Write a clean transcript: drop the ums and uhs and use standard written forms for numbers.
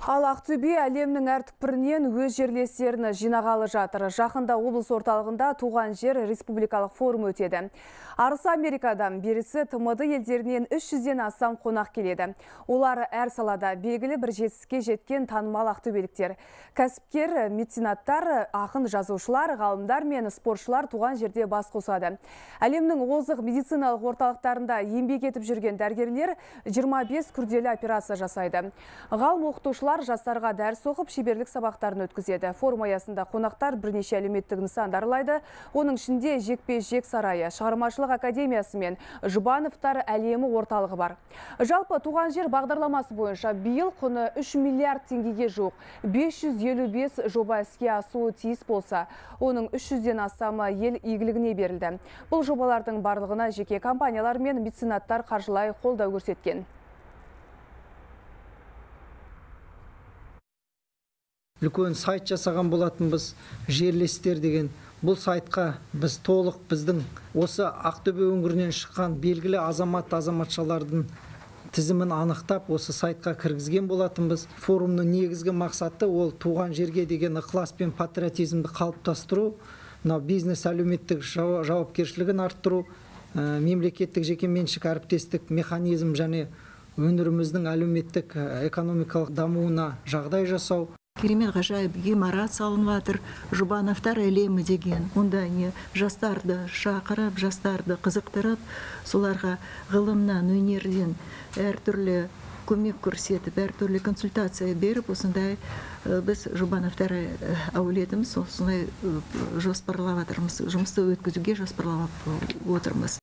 Ал Ақтөбе әлемнің әр түкпірінен өз жерлестерін жинағалы жатыр. Жақында облыс орталығында туған жер республикалық форум өтеді. Арысы Америкадан, берісі ТМД елдерінен 300-ден астам қонақ келеді. Олар әр салада белгілі бір жетістікке жеткен танымал ақтөбеліктер. Кәсіпкер, меценаттар, ақын жазушылар, ғалымдар мен спортшылар туған жерде бас қосады. Әлемнің озық медициналық орталықтарында еңбек етіп жүрген дәрігерлер 25 күрделі операция жасайды. Ғалым оқытушылар жастарға дәріс оқып, шеберлік сабақтарын өткізеді. Форум аясында қонақтар бірнеше әлеуметтік нысандар аралайды. Оның ішінде жекпе-жек сарайы, шығармашылық академиясы мен Жұбановтар әлемі орталығы бар. Жалпы туған жер бағдарламасы бойынша биыл құны 3 миллиард теңгеге жуық 555 жоба іске асуы тиіс болса, оның 300-ден астамы ел игілігіне берілді. Бұл жобалардың барлығына жеке компаниялар мен меценаттар қаржылай қолдау көрсеткен. Үлкен сайт жасаған болатынбыз, жерлестер деген. Бұл сайтқа біз толық біздің осы Ақтөбе өңірінен шыққан белгілі азаматшалардың тізімін анықтап, осы сайтқа кіргізген болатынбыз. Форумның негізгі мақсаты ол туған жерге деген ықылас пен патриотизмді қалыптастыру, бизнес әлеуметтік жауапкершілігін арттыру, мемлекеттік жекеменшік әріптестік механизм және өңіріміздің әлеуметтік экономикалық дамуына жағдай жасау. Керемет ғажайып ғимарат салынып жатыр, Жұбановтар әлемі деген. Онда жастарды шақырып, жастарды қызықтырып, соларға ғылымнан, өнерден әртүрлі көмек көрсетіп, әртүрлі консультация беріп, осындай біз Жұбановтар әулетіміз осындай жоспарлап жатырмыз, жұмысты өткізуге жоспарлап отырмыз.